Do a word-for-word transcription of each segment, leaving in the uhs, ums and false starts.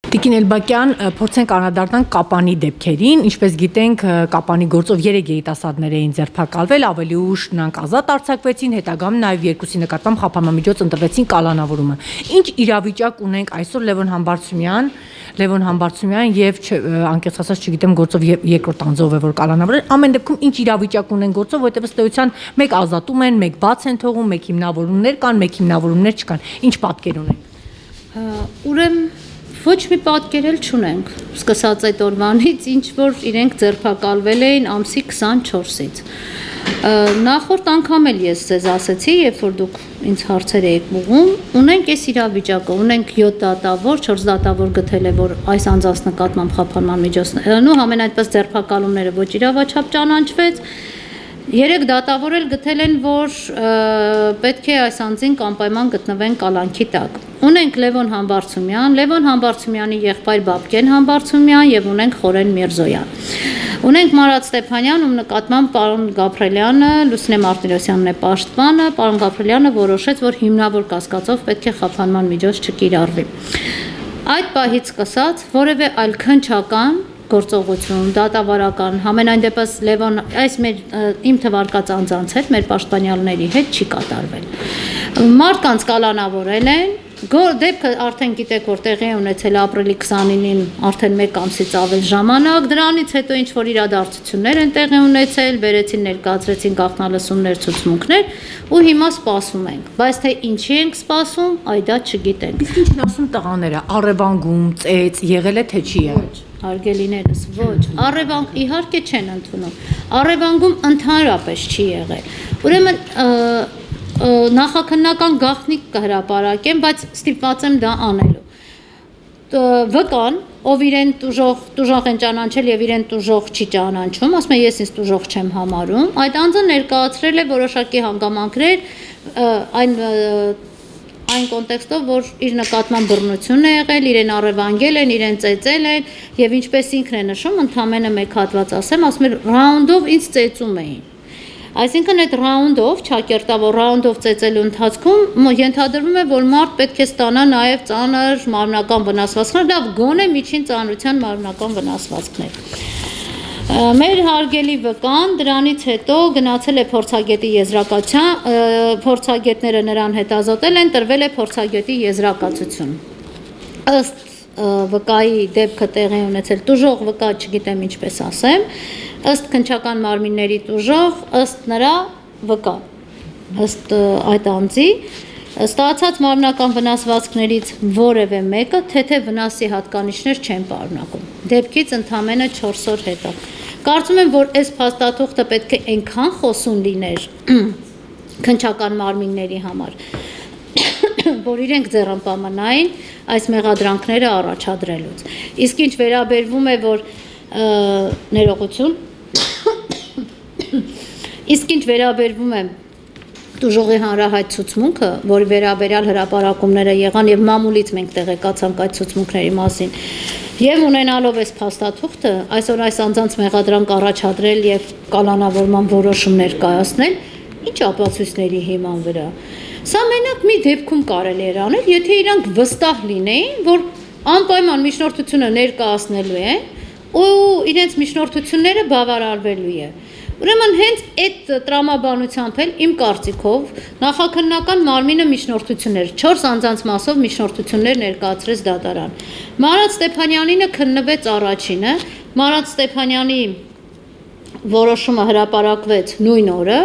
Տիկին Էլբակյան, փորձենք անդրադառնանք Կապանի դեպքերին, ինչպես գիտենք, Կապանի գործով երեք երիտասարդներ էին ձերբակալվել, ավելի ուշ նրանք ազատ արձակվեցին, հետագայում նաև երկուսի նկատմամբ խափանամիջոց ընտրվեցին կալանավորումը։ Ինչ իրավիճակ ունենք այսօր Լևոն Համբարձումյան, Լևոն Համբարձումյան եւ անկեղծ ասած չգիտեմ գործով երկրորդ անձով է որ կալանավորել, ամեն դեպքում ինչ իրավիճակ ունեն գործով, որտեղ ըստ էության մեկ ազատում են, մեկ բաց են թողում, մեկ հիմնավորումներ կան, մեկ հիմնավորումներ չկան։ Ինչ պատկեր ունենք։ Ուրեմն ոչ մի պատկեր էլ չունենք, սկսած այդ օրվանից, ինչ որ իրենք ձերբակալվել էին ամսի քսանչորսից։ Նախորդ անգամ էլ ես ձեզ ասեցի, երբ որ դուք ինձ հարցեր եք ուղղում, ունենք այս իրավիճակը, ունենք յոթ դատավոր, չորս դատավոր գտել է, որ այս անձանց նկատմամբ խափանման միջոցներ, ու համեն այդպես ձերբակալումները ոչ իրավաչափ ճանաչվեց։ Երեք դատավոր էլ գտել են, որ պետք է այս անձին կանպայման գտնվեն կալանքի տակ։ Ունենք Լևոն Համբարձումյան, Լևոն Համբարձումյանի եղբայր Բաբկեն Համբարձումյան եւ ունենք Խորեն Միրզոյան։ Ունենք Մարատ Ստեփանյան, ում նկատմամբ պարոն Գաբրելյանը, Լուսինե Մարտիրոսյանն է պաշտպանը, պարոն Գաբրելյանը որոշեց, որ հիմնավոր կասկածով պետք է խափանման միջոց չկիրառվի։ Այդ պահից սկսած որևէ այլ քննչական գործողություն, դատավարական, համենայն դեպս Լևոն այս մեր իմ թվարկած անձանց հետ, մեր պաշտպանյալների հետ չի կատարվել։ Մարդկանց կալանավորել են, դեպքը արդեն գիտեք, որ տեղի է ունեցել ապրիլի քսանինին արդեն մեկ ամսից ավել ժամանակ, դրանից հետո ինչ որ իրադարձություններ են տեղի ունեցել, վերեցին ներկայացրեցին գաղտնալսումներ, ցուցմունքներ ու հիմա սպասում ենք, բայց թե ինչի ենք սպասում, այ դա չգիտենք։ Իսկ ինչ են ասում տղաները, առևանգում, ծեծ, եղել է թե չի եղել։ Արգելիներս, ոչ, առևանգ իհարկե չեն ընդունում, առևանգում ընդհանրապես չի եղել, ուրեմն նախաքննական գաղտնիք կհրապարակեմ, բայց ստիպված եմ դա անելու, վկան, ով իրեն տուժող, տուժող են ճանաչել և իրեն տուժող չի ճանաչում, ասում է ես ինձ տուժող չեմ համարում, այդ անձը ներկայացրել է որոշակի հանգամանքներ, այն այն կոնտեքստով, որ իր նկատմամբ բռնություն է եղել, իրեն առևանգել են, իրեն ծեծել են եւ ինչպես ինքն է նշում, ընդամենը մեկ հատված ասեմ, ասում է ռաունդով ինձ ծեծում էին։ Այսինքն այդ ռաունդով, չակերտավոր ռաունդով ծեծելու ընթացքում ենթադրվում է, որ մարդ պետք է ստանա նաեւ ծանր մարմնական վնասվածքներ, լավ գոնե միջին ծանրության մարմնական վնասվածքներ։ Մեր հարգելի վկան դրանից հետո գնացել է փորձագետի եզրակացության, փորձագետները նրան հետազոտել են, տրվել է փորձագետի եզրակացություն։ Ըստ վկայի դեպքը տեղի ունեցել տուժող վկա, չգիտեմ ինչպես ասեմ, ըստ քննչական մարմինների տուժող, ըստ նրա վկա, ըստ այդ անձի ստացած մարմնական վնասվածքներից որևէ մեկը թեթև վնասի հատկանիշներ չեն պարունակում։ Դեպքից ընդամենը չորս օր հետո։ Կարծում եմ, որ այս փաստաթուղթը պետք է այնքան խոսուն լիներ քննչական մարմինների համար, որ իրենք ձեռնպահմանային այս մեղադրանքները առաջադրելուց։ Իսկ ինչ վերաբերվում է, որ ներողություն, իսկ ինչ վերաբերվում է տուժողի հանրահայտ ցուցմունքը, որի վերաբերյալ հրապարակումները եղան եւ մամուլից մենք տեղեկացանք այդ ցուցմունքների մասին, եւ ունենալով այս փաստաթուղթը, այսօր այս անձանց մեղադրանք առաջադրել եւ կալանավորման որոշումներ կայացնել, ինչ ապացույցների հիման վրա։ Սա մենակ մի դեպքում կարելի էր անել, եթե իրանք վստահ լինեին, որ անպայման միջնորդությունը ներկայացնելու են ու իրենց միջնորդությունները բավարարվելու է։ Ուրեմն հենց այդ տրամաբանությամբ էլ իմ կարծիքով նախաքննական մարմինը միջնորդություններ, չորս անձանց մասով միջնորդություններ ներկայացրեց դատարան։ Մարատ Ստեփանյանինը քննվեց առաջինը, Մարատ Ստեփանյանի որոշումը հրապարակվեց նույն օրը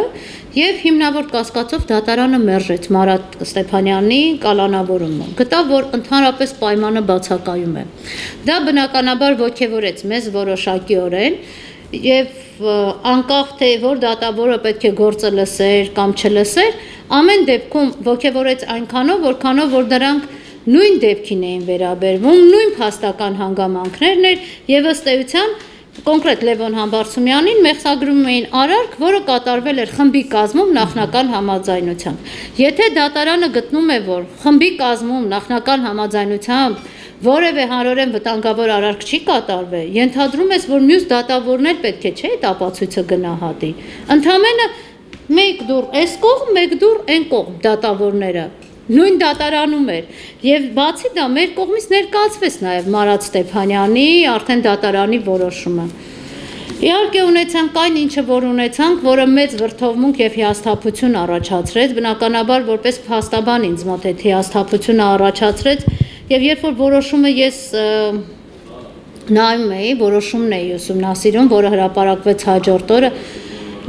եւ հիմնավոր կասկածով դատարանը մերժեց Մարատ Ստեփանյանի կալանավորումը։ Գտավ, որ ընդհանրապես պայմանը բացակայում է։ Դա բնականաբար ոգևորեց մեզ որոշակիորեն եւ անկախ թե որ դատավորը պետք է գործը լսեր կամ չլսեր, ամեն դեպքում ոգևորեց այնքանով, որքանով որ դրանք նույն դեպքին էին վերաբերվում, նույն փաստական հանգամանքներն էր եւ ըստ էության կոնկրետ Լևոն Համբարձումյանին մեղսագրում էին արարք, որը կատարվել էր խմբի կազմում նախնական համաձայնությամբ։ Եթե դատարանը գտնում է, որ խմբի կազմում նախնական համաձայնությամբ որևէ հանրորեն վտանգավոր արարք չի կատարվել, ենթադրում ես, որ մյուս դատավորներ պետք է չէ այդ ապացույցը գնահատի։ Ընդամենը մեկ դուռ այս կողմ, մեկ դուռ այն կողմ դատավորները Նույն դատարանում էր եւ բացի դա մեր կողմից ներկայացվեց նաեւ Մարատ Ստեփանյանի արդեն դատարանի որոշումը։ Իհարկե ունեցանք այն ինչը որ ունեցանք, որը մեծ վրդովմունք եւ հիասթափություն առաջացրեց, բնականաբար որպես փաստաբան ինձ մոտ այդ հիասթափությունը առաջացրեց եւ երբ որ որոշումը ես նայում էի, որոշումն էի ուսումնասիրում, որը հրապարակվեց հաջորդ օրը,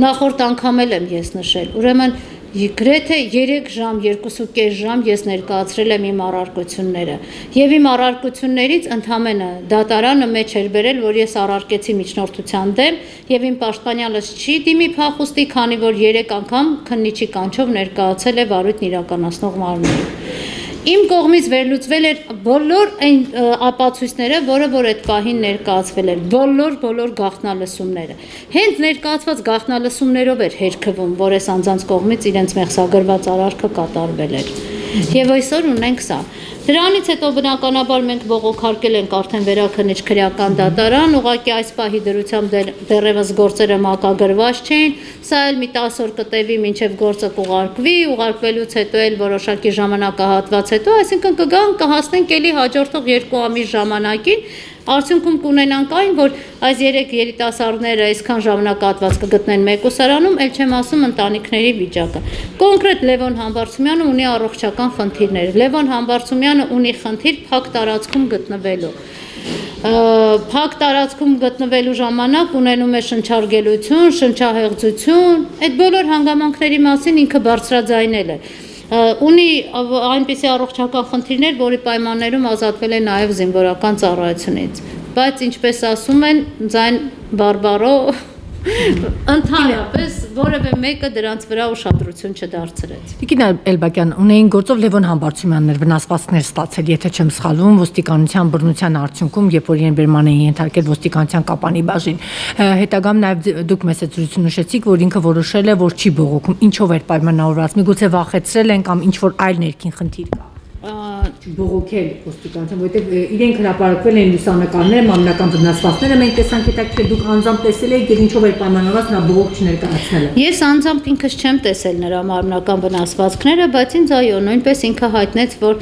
նախորդ անգամ եմ ես նշել, ուրեմն գրեթե երեք ժամ, երկուսուկես ժամ ես ներկայացրել եմ իմ առարկությունները եւ իմ առարկություններից ընդամենը դատարանը մեջ էր բերել, որ ես առարկեցի միջնորդության դեմ եւ իմ պաշտպանյալս չի դիմի փախուստի, քանի որ երեք անգամ քննիչի կանչով ներկայացել է վարույթն իրականացնող մարմնին։ Իմ կողմից վերլուծվել էր բոլոր այն ապացույցները, որը որ այդ պահին ներկայացվել էր, բոլոր բոլոր գաղտնալսումները։ Հենց ներկայացված գաղտնալսումներով էր հերքվում, որ այս անձանց կողմից իրենց մեղսագրված արարքը կատարվել էր։ Եվ այսօր ունենք սա։ Դրանից հետո բնականաբար մենք բողոքարկել ենք արդեն վերաքննիչ քրեական դատարան, ուղղակի այս պահի դրությամբ դեռևս գործերը մակագրված չէին, սա էլ մի տասը օր կտևի մինչև գործը կուղարկվի, ուղարկվելուց հետո էլ որոշակի ժամանակահատված հետո, այսինքն կգան կհասնենք էլի հաջորդող երկու ամիս ժամանակին, արդյունքում կունենանք այն, որ այս երեք երիտասարդները այսքան ժամանակահատված կգտնեն մեկուսարանում, ել չեմ ասում ընտանիքների վիճակը։ Կոնկրետ Լևոն Համբարձումյանը ունի առողջական խնդիրներ։ Լևոն Համբարձումյանը ունի խնդիր փակ տարածքում գտնվելու։ Փակ տարածքում գտնվելու ժամանակ ունենում է շնչարգելություն, շնչահեղձություն, այդ բոլոր հանգամանքների մասին ինքը բարձրաձայնել է։ Ունի այնպիսի առողջական խնդիրներ, որի պայմաններում ազատվել է նաև զինվորական ծառայությունից, բայց ինչպես ասում են, ձայն բարբարո ընդհանրապես որևէ մեկը դրանց վրա ուշադրություն չդարձրեց։ Տիկին Էլբակյան, ունեին գործով Լևոն Համբարձումյաններ վնասվածքներ ստացել, եթե չեմ սխալվում, ոստիկանության բռնության արդյունքում, երբ որ իրեն բերման էին ենթարկել ոստիկանության կապանի բաժին։ Հետագամ նաև դուք մեծ զրույցում նշեցիք, որ ինքը որոշել է, որ չի բողոքում, ինչով էր պայմանավորված, միգուցե վախեցրել են կամ ինչ որ այլ ներքին խնդիր կա։ Բողոքել ոստիկանության, որովհետև իրենք հրապարակվել են լուսանկարները, մամլական վնասվածքները, մենք տեսանք հետաքրքիր դուք անձամբ տեսել եք եւ ինչով էր պայմանավորված նրա բողոք չներկայացնելը։ Ես անձամբ ինքս չեմ տեսել նրա մամլական վնասվածքները, բայց ինձ այո, նույնպես ինքը հայտնեց, որ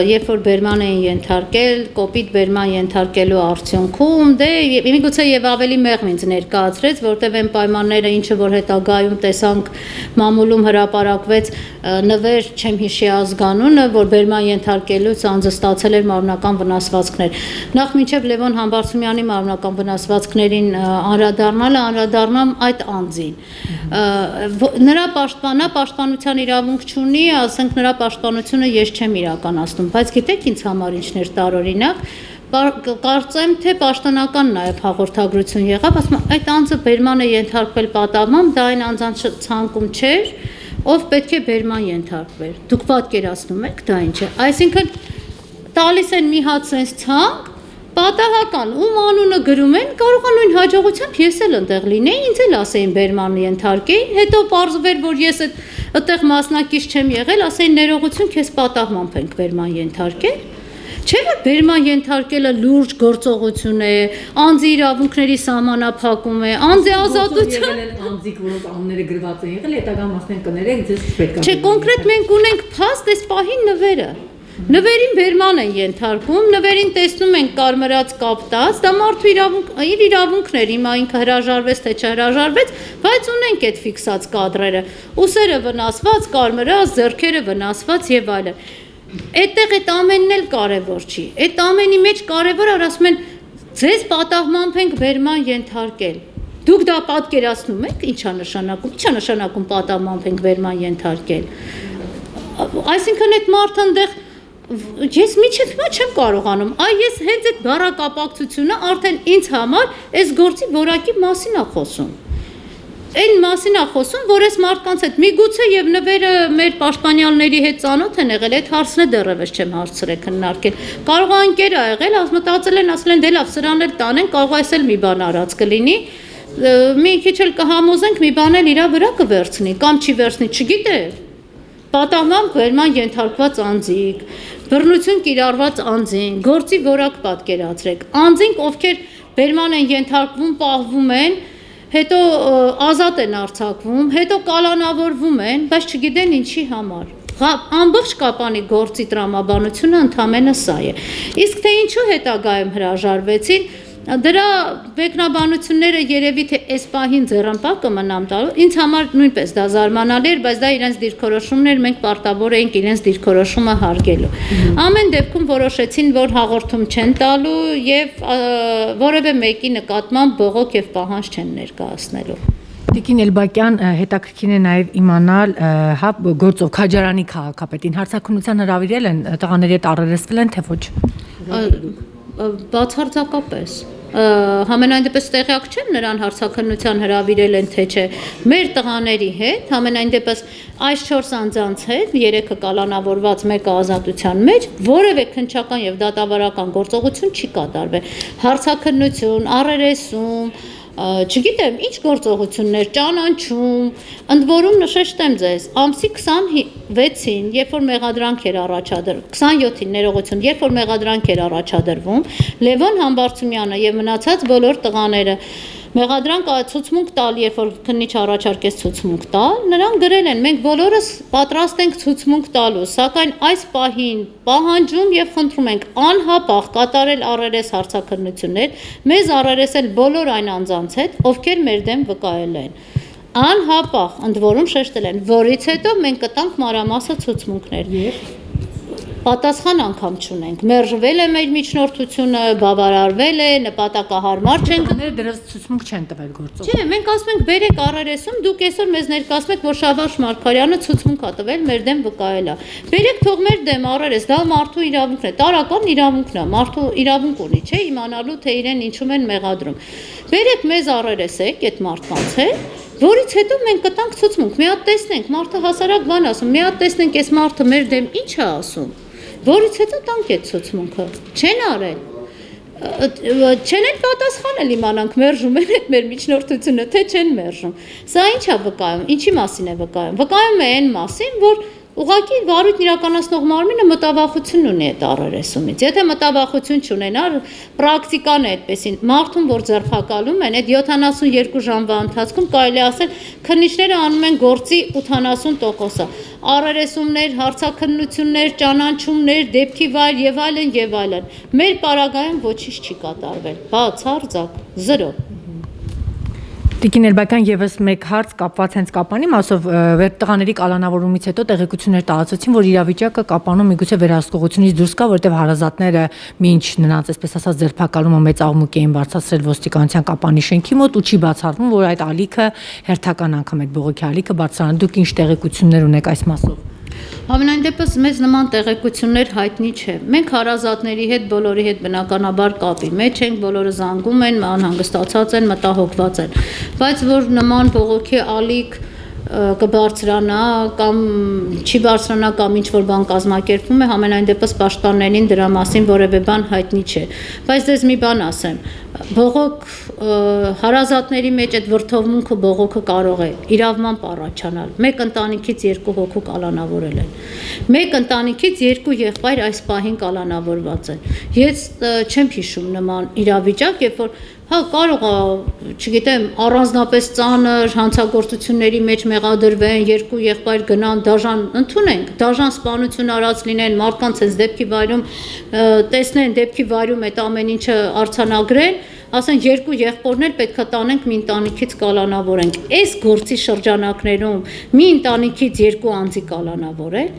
երբ որ բերման էին ենթարկել, կոպիտ բերման ենթարկելու արդյունքում, դե միգուցե եւ ավելի մեղմ ինձ ներկայացրեց, որտեղ այն պայմանները, ինչը որ հետագայում տեսանք մամուլում հրապարակվեց, նվեր չեմ հիշի ազգանունը, որ բերման ենթարկելուց անձը ստացել էր մարմնական վնասվածքներ։ Նախ մինչև Լևոն Համբարձումյանի մարմնական վնասվածքներին անդրադառնալը անդրադառնամ այդ անձին։ Նրա պաշտպանա պաշտպանության իրավունք չունի, ասենք նրա պաշտպանությունը ես չեմ իրականացնում, բայց գիտեք ինձ համար ինչն էր տարօրինակ, կարծեմ թե պաշտոնական նաև հաղորդագրություն եղավ, ասում այդ անձը բերման է ենթարկվել պատահմամբ, դա այն անձանց ցանկում չէր, ով պետք է բերման ենթարկվեր։ Դուք պատկերացնում եք դա ինչ է։ Այսինքն տալիս են մի հատ sense ցանկ, պատահական ում անունը գրում են, կարող է նույն հաջողությամբ ես էլ այնտեղ լինեի, ինձ էլ ասեին բերման ենթարկեին, հետո պարզվեր, որ ես այդտեղ մասնակից չեմ եղել, ասեին ներողություն, քեզ պատահմամբ ենք բերման ենթարկել։ Չէ՞ որ բերման ենթարկելը լուրջ գործողություն է, անձի իրավունքների սահմանափակում է, անձի ազատության անձիկ, որոնք անունները գրված են եղել, հետագա մասն կներեք, ձեզ չպետք է։ Չէ, կոնկրետ մենք ունենք փաստ այս պահին նվերը։ Նվերին բերման են ենթարկում, նվերին տեսնում են կարմրած կապտած, դա մարդու իրավունք, իր իրավունքն էր, հիմա ինքը հրաժարվեց թե չհրաժարվեց, բայց ունենք այդ ֆիքսած կադրերը, ուսերը վնասված, կարմրած, ձեռքերը վնասված եւ այլն։ Այդտեղ այդ ամենն էլ կարևոր չի։ Այդ ամենի մեջ կարևորը ասում են ձեզ պատահմամբ ենք բերման ենթարկել։ Դուք դա պատկերացնում եք, ինչա նշանակում, ինչա նշանակում պատահմամբ ենք բերման ենթարկել։ Այսինքն այդ մարդը այնտեղ ես միջև հիմա չեմ կարողանում, այ ես հենց այդ բառակապակցությունը արդեն ինձ համար այս գործի որակի մասին է խոսում։ Այն մասին է խոսում, որ այս մարդկանց հետ միգուցե եւ նվերը մեր պաշտպանյալների հետ ծանոթ են եղել, այդ հարցն է դեռևս չեմ հարցրել քննարկել։ Կարող է ընկեր ա եղել, ասմտածել են, ասել են դե լավ, սրան էլ տանեն, կարող է այսել մի բան արած կլինի։ Մի քիչ էլ կհամոզենք, մի բան էլ իրա վրա կվերցնի, կամ չի վերցնի, չգիտե։ Պատահմամբ բերման ենթարկված անձիկ, բռնություն կիրառված անձին, գործի որակ պատկերացրեք։ Անձինք, ովքեր բերման են ենթարկվում, պահվում են, հետո ազատ են արձակվում, հետո կալանավորվում են, բայց չգիտեն ինչի համար։ ամբողջ կապանի գործի տրամաբանությունը ընդամենը սա է։ Իսկ թե ինչու հետագայում հրաժարվեցին, դրա մեկնաբանությունները երևի թե այս պահին ձեռնպահ կմնամ տալու, ինձ համար նույնպես դա զարմանալի էր, բայց դա իրենց դիրքորոշումն էր, մենք պարտավոր էինք իրենց դիրքորոշումը հարգելու։ Ամեն դեպքում որոշեցին, որ հաղորդում չեն տալու եւ որևէ մեկի նկատմամբ բողոք եւ պահանջ չեն ներկայացնելու։ Տիկին Էլբակյան, հետաքրքիր է նաև իմանալ, հա, գործով Քաջարանի քաղաքապետին հարցաքննության հրավիրել են, տղաների հետ առերեսվել են, թե ոչ։ Բացարձակապես։ Համենայն դեպս տեղյակ չեմ նրան հարցաքննության հրավիրել են, թե չէ, մեր տղաների հետ, համենայն դեպս այս չորս անձանց հետ, երեքը կալանավորված, մեկը ազատության մեջ, որևէ քննչական եւ դատավարական գործողություն չի կատարվել։ Հարցաքննություն, առերեսում, չգիտեմ, ինչ գործողություններ, ճանաչում, ընդ որում նշեցեմ ձեզ, ամսի քսանվեցին, երբ որ մեղադրանք էր առաջադրվում, քսանյոթին ներողություն, երբ որ մեղադրանք էր առաջադրվում, Լևոն Համբարձումյանը եւ մնացած բոլոր տղաները մեղադրանք ցուցմունք տալ, երբ որ քննիչ առաջարկեց ցուցմունք տալ, նրան գրել են, մենք բոլորս պատրաստ ենք ցուցմունք տալու, սակայն այս պահին պահանջում եւ խնդրում ենք անհապաղ կատարել առերես հարցաքննություններ, մեզ առերեսել բոլոր այն անձանց հետ, ովքեր մեր դեմ վկայել են։ Անհապաղ, ընդ որում շեշտել են, որից հետո մենք կտանք մանրամասը ցուցմունքներ։ Պատասխան անգամ չունենք, մերժվել է մեր միջնորդությունը, բավարարվել է, նպատակահարմար չենք դրած ցուցմունք չեն տվել գործով։ Չէ, մենք ասում ենք բերեք առերեսում, դուք այսօր մեզ ներկայացնում եք, որ Շավարժ Մարգարյանը ցուցմունք ա տվել, մեր դեմ վկայել է։ Բերեք թող մեր դեմ առերես, դա մարդու իրավունքն է, տարական իրավունքն է, մարդու իրավունք ունի, չէ, իմանալու թե իրեն ինչում են մեղադրում։ Բերեք մեզ առերեսեք այդ մարդկանց հետ, որից հետո մենք կտանք ցուցմունք, մի հատ տեսնենք, մարդը հասարակ բան ասում, մի հատ տեսնենք այս մարդը մեր դեմ ինչ է ասում, որից հետո տանք այդ ցուցմունքը, չեն արել, չեն էլ պատասխանել իմանանք մերժում են այդ մեր միջնորդությունը, թե չեն մերժում, սա ինչ է վկայում, ինչի մասին է վկայում, վկայում է այն մասին, որ ուղղակի վարույթն իրականացնող մարմինը մտավախություն ունի այդ առերեսումից, եթե մտավախություն չունենար, պրակտիկան է այդպեսին, մարդուն, որ ձերբակալում են, այդ յոթանասունյոթ ժամվա ընթացքում կարելի ասել, քննիչները անում են գործի ութանասուն տոկոսը, առերեսումներ, հարցաքննություններ, ճանաչումներ, դեպքի վայր եւ այլն եւ այլն, մեր պարագայում ոչինչ չի կատարվել, բացարձակ, զրո։ Տիկին Էլբակյան, եւս մեկ հարց կապված հենց կապանի մասով, տղաների կալանավորումից հետո տեղեկություններ տարածեցին, որ իրավիճակը կապանում միգուցե վերահսկողությունից դուրս կա, որտեղ հարազատները մինչ նրանց, այսպես ասած, ձերբակալումը մեծ աղմուկ էին բարձրացրել ոստիկանության կապանի շենքի մոտ ու չի բացառվում, որ այդ ալիքը հերթական անգամ այդ բողոքի ալիքը բարձրանում։ Դուք ինչ տեղեկություններ ունեք այս մասով։ Համենայն դեպս մեզ նման տեղեկություններ հայտնի չէ։ Մենք հարազատների հետ, բոլորի հետ բնականաբար կապի մեջ ենք, բոլորը զանգում են, անհանգստացած են, մտահոգված են։ Բայց որ նման բողոքի ալիք կբարձրանա կամ չի բարձրանա կամ ինչ որ բան կազմակերպվում է, համենայն դեպս պաշտպաններին դրա մասին որևէ բան հայտնի չէ։ Բայց դες մի բան ասեմ, բողոք հարազատների մեջ այդ վրթովմունքը բողոքը կարող է իրավմամբ առաջանալ։ Մեկ ընտանիքից երկու հոգու կալանավորել են։ Մեկ ընտանիքից երկու եղբայր այս պահին կալանավորված են։ Ես չեմ հիշում նման իրավիճակ, երբ որ հա կարող է, չգիտեմ, առանձնապես ծանր հանցագործությունների մեջ մեղադրվեն, երկու եղբայր գնան, դաժան ընդունենք, դաժան սպանություն արած լինեն, մարդկանց այս դեպքի վայրում տեսնեն, դեպքի վայրում այդ ամեն ինչը արձանագրեն, ասեն երկու եղբորներ պետք է տանենք մի ընտանիքից կալանավորենք։ Այս գործի շրջանակներում մի ընտանիքից երկու անձի կալանավորել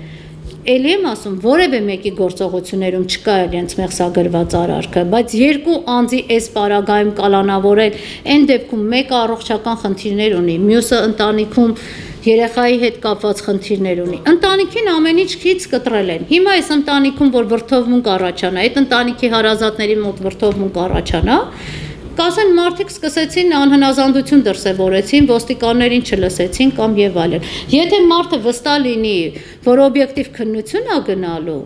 Էլի եմ ասում, որևէ մեկի գործողություններում չկա իրենց մեղսագրված արարքը, բայց երկու անձի այս պարագայում կալանավորել, այն դեպքում մեկը առողջական խնդիրներ ունի, մյուսը ընտանիքում երեխայի հետ կապված խնդիրներ ունի։ Ընտանիքին ամեն ինչ քիչ կտրել են։ Հիմա այս ընտանիքում, որ վրթովմունք առաջանա, այդ ընտանիքի հարազատների մոտ վրթովմունք առաջանա, կասեն մարդիկ սկսեցին անհնազանդություն դրսևորեցին, ոստիկաններին չլսեցին կամ եւ այլն։ Եթե մարդը վստահ լինի, որ օբյեկտիվ քննություն է գնալու,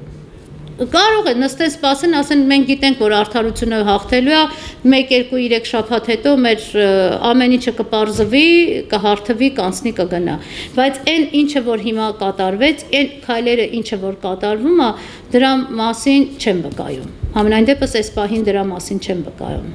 կարող է նստեն սպասեն, ասեն մենք գիտենք, որ արդարությունը հաղթելու է, մեկ, երկու, երեք շաբաթ հետո մեր ամեն ինչը կպարզվի, կհարթվի, կանցնի, կգնա։ Բայց այն ինչը որ հիմա կատարվեց, այն քայլերը ինչը որ կատարվում է, դրա մասին չեմ վկայում։ Համենայն դեպս այս պահին դրա մասին չեմ վկայում։